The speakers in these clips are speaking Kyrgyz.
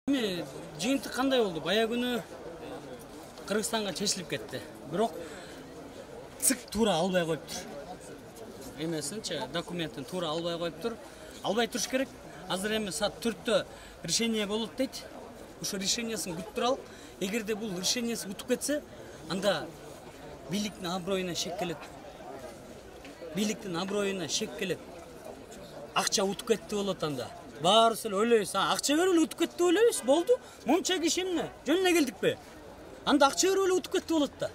Жыйынтык кандай болду? Бая күнү Кыргызстанга чечилип кетти. Бирок ЦИК туура албай коюптур. Эмесинчи, документин туура албай коюптур. Албай туруш керек. Азыр эми саат 4-тө решение болот дейт. Ошо решениясын күтүп туралык. Эгерде бул решениясы утуп кетсе, анда бийликтин аброюна шек келет. Бийликтин аброюна шек келет. Акча утуп кетти болот анда. Баарыбыз эле ойлойбуз, акча берип эле утуп кетти ойлойбуз, болду. Мынча киши эмне? Жөнүнө келдикпи? Анда акча берип эле утуп кетти болот да.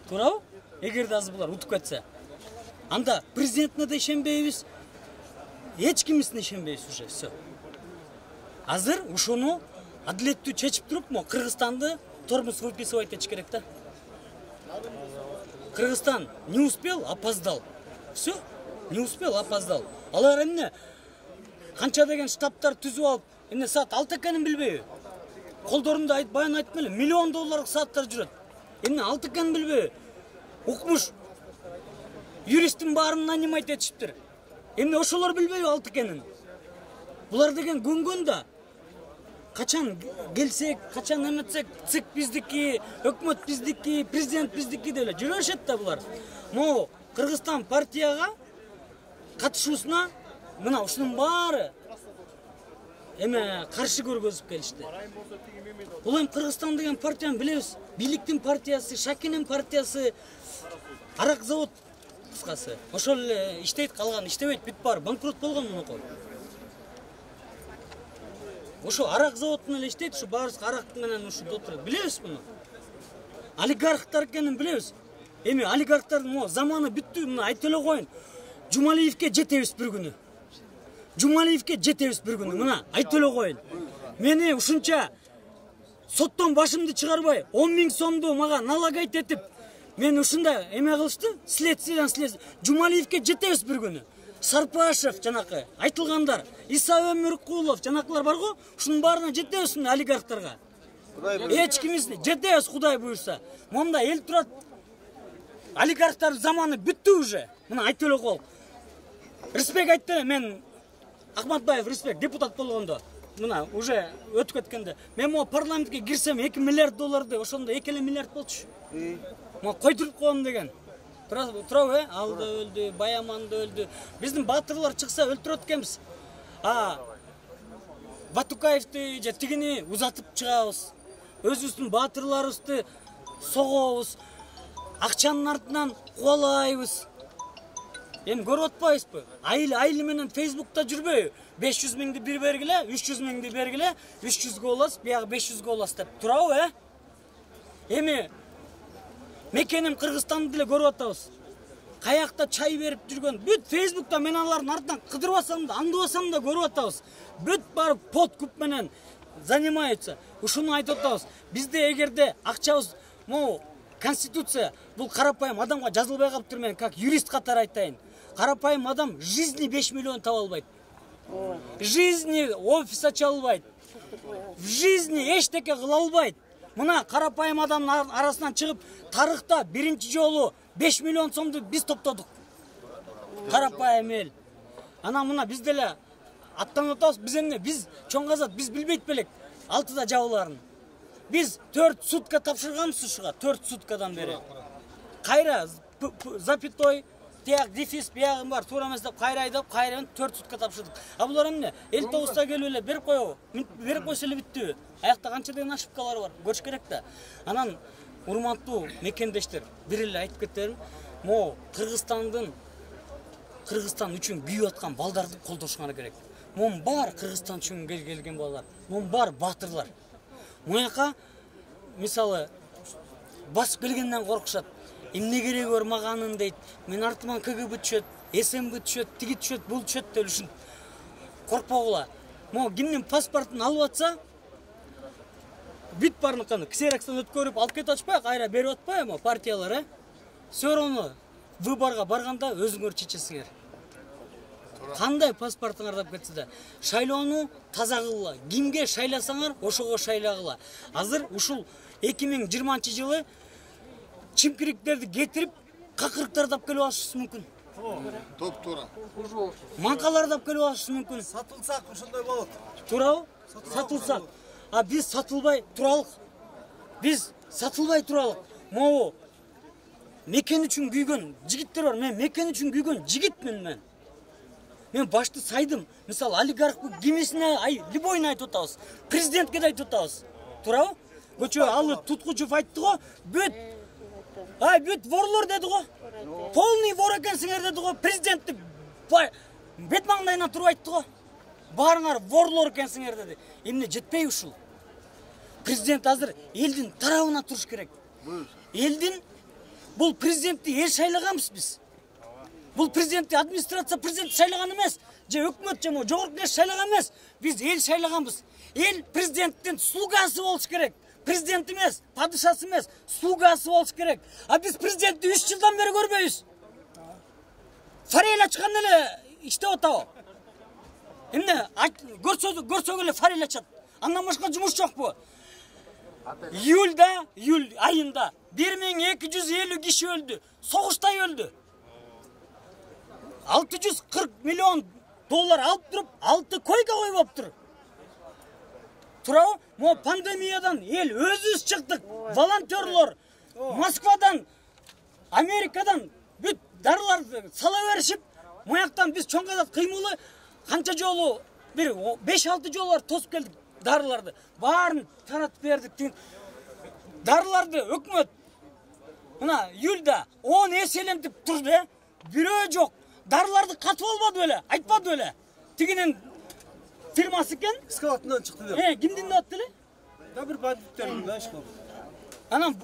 Туурабы? Эгерде азыр булар утуп кетсе. Анда президентине да ишенбейбиз. Эч кимисине ишенбейбиз уже, всё. Азыр ушуну адилеттүү чечип туруп, Кыргызстанды тормоз выписывать этиш керек да. Кыргызстан не успел, опоздал. Всё, не успел, опоздал. Алар эмне? Канча деген штабтар түзүп алып, эмне саат 6 экенин билбейби? Колдорунда баян айттым эле, миллион долларлык сааттар жүрөт. Эмне 6 экенин билбейби? Укмуш юристтин баарын нанимать этишиптир. Эмне ошолор билбейби 6 экенин? Булар деген көнгөн да. Качан келсек, качан эметсек, ЦИК биздики, өкмөт биздики, президент биздики деп эле жүрөшөт да булар. Могу Кыргызстан партияга катышуусуна мына ушунун баары каршы көргөзүп келишти. Бул эми Кыргызстан деген партияны билебиз. Бийликтин партиясы, Шакинин партиясы, арак завод кыскасы. Ошол эле иштейт, калган иштебейт, бүт баары банкрот болгон мунукой. Ошо арак заводун эле иштейт, ушу баарыбыз арак менен ушунда отурат. Билебиз муну. Олигархтар экенин билебиз. Эми олигархтардын заманы бүттү, мына айтып эле коеюн. Жумалиевке жетебиз бир күнү. Жумалиевке жетебиз бир күнү. Мына айтып эле коеюн. Мени ушунча соттон башымды чыгарбай 10 000 сомду мага налагать этип, мен ушунда эме кылышты, следствиядан Жумалиевке жетебиз бир күнү. Сарпашев жанакы айтылгандар, Иса Өмүркулов жанакылар бар го, ушунун баарына жетебиз олигархтарга. Эч кимисине жетебиз, Кудай буйрса. Монда эл турат. Олигархтар заманы бүттү уже. Мына айтып эле коелук. Респект айтты, мен Ахматбаев респект депутат болгондо. Мына уже өтүп кеткенде. Мен могу парламентке кирсем 2 миллиард долларды, ошондо 2 миллиард болчу. Могу койдуруп коем деген. Турабы, Алда өлдү, Баяманда өлдү. Биздин баатырлар чыкса өлтүрөт экенбиз. Батукаевди же тигини узатып чыгабыз. Өзүбүздүн баатырларыбызды согобуз. Акчанын артынан кубалайбыз. Эми көрүп атпайбызбы? Айыл менен Facebook'та жүрбөйбү? 500 000 бир бергиле, 300 000 бергиле, 300 болос, бияга 500 болос деп турабы, Эми мекеним Кыргызстанды деле көрүп атабыз. Каякта чай берип жүргөн бүт Facebook'та мен алардын артынан кыдырбасам да, аңдыбасам да көрүп атабыз. Бүт барып подкуп менен занимаются. Ушуну айтып атабыз. Бизде эгерде акчабыз, Конституция бул карапайым адамга жазылбай калыптыр, мен как юрист катары айтайын. Карапайым адам жизни 5 миллион таба албайт. Жизни офис ача албайт. В жизни эчтеке кыла албайт. Мына карапайым адамдын арасынан чыгып, тарыхта биринчи жолу 5 миллион сомду биз топтодук. Карапайым эл. Мына биз деле аттанып атабыз, биз эмне? Биз чоң казат, биз билбейт белек 6-да жабыларын. Biz 4 sutka tapşırganmız uşuğa, 4 sutkadan beri. Kayra, zapitoy, tiyak, difis, biyagım var, turamazda kayra aydap, kayra'nın 4 sutka tapşırdık. Abular emne? El toğusta gelöyle, berip koysuyla bitti. Ayakta kança degen aşıpkaları var, görüş gerek de. Anan, urmantуу mekendештер, birille aytıp ketterim, Kırgızstan üçün kүйüp atkан балдарды колдошуңар керек. Мон бар Кыргызстан үчүн келген балдар, мон бар батырлар. Муяка, мисалы, басып келгенден коркушат. Эмне кереги бар маганын дейт. Мен артыман КГБ түшөт, СМБ түшөт, тиги түшөт, бул түшөт деп ушин коркпогула. Кимдин паспортун алып атса, бүт барыныканы ксерокстон өткөрүп алып кетип атышпайбы, кайра берип атпайбы партиялар, Сөөрөнү выборго барганда өзүңөр чечесиңер. Кандай паспортуңар деп кетсе да, шайлоону таза кылгыла. Кимге шайласаңар, ошого шайлагыла. Азыр ушул 2020-жылы чимкириктерди кетирип, какырыктар тап келип алышыбыз мүмкүн. Топ-туура. Манкалар тап келип алышыбыз мүмкүн. Сатылсак ошондой болот. Туурабы? Сатылсак. А биз сатылбай туралык. Биз сатылбай туралык. Могу мекен үчүн күйгөн жигиттер бар. Мен мекен үчүн күйгөн жигитмин мен. Мен башты сайдым. Мисалы олигарх кимисине любойуна айтып атабыз. Президентке да айтып атабыз. Туурабы? Көчө алы Туткучев айтты го, бүт бүт ворлор деди го. Полный вор экенсиңер деди го. Президентти бет маңдайына туруп айтты го. Баарыңар ворлор экенсиңер деди. Эмне жетпей ушул? Президент азыр элдин тарабына туруш керек. Элдин бул президентти эл шайлаганбыз биз. Бул президентти администрация президент шайлаган эмес, же өкмөт же жогорку кеңеш шайлаган эмес. Биз эл шайлаганбыз. Эл президенттин слугасы болуш керек. Президент эмес, падышасы эмес, слугасы болуш керек. А биз президентти 3 жылдан бери көрбөйбүз. Форель ачкан эле иштеп атабы? Эмне көрсөк эле форель ачат. Андан башка жумуш жокпу? Июль айында 1250 киши өлдү. Согуштай өлдү. 640 миллион доллар алып туруп, 6 койка коюп алыптыр. Туурабы? Мо пандемиядан эл өзүбүз чыктык. Волонтерлор Москвадан, Америкадан бүт дарыларды сала беришип, мояктан биз чоң казат кыймылы канча жолу бир 5-6 жолу тосуп келдик дарыларды. Баарын таратып бердик. Дарыларды өкмөт мына июлда 10 эселентип турду. Бирөө жок. Дарыларды катып албады беле, айтпады беле. Тигинин фирмасы экен. Скалатынан чыкты деп. Кимдин деп аттылы? Да бир бандиттердин да ишкал. Анан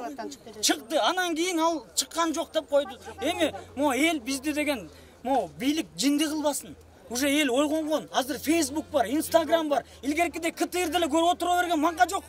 чыкты, анан кийин ал чыккан жок деп койду. Эми мо эл бизди деген мо бийлик жинди кылбасын. Уже эл ойгонгон. Азыр Facebook бар, Instagram бар. Илгеркиде КТР деле көрүп отура берген манга жок.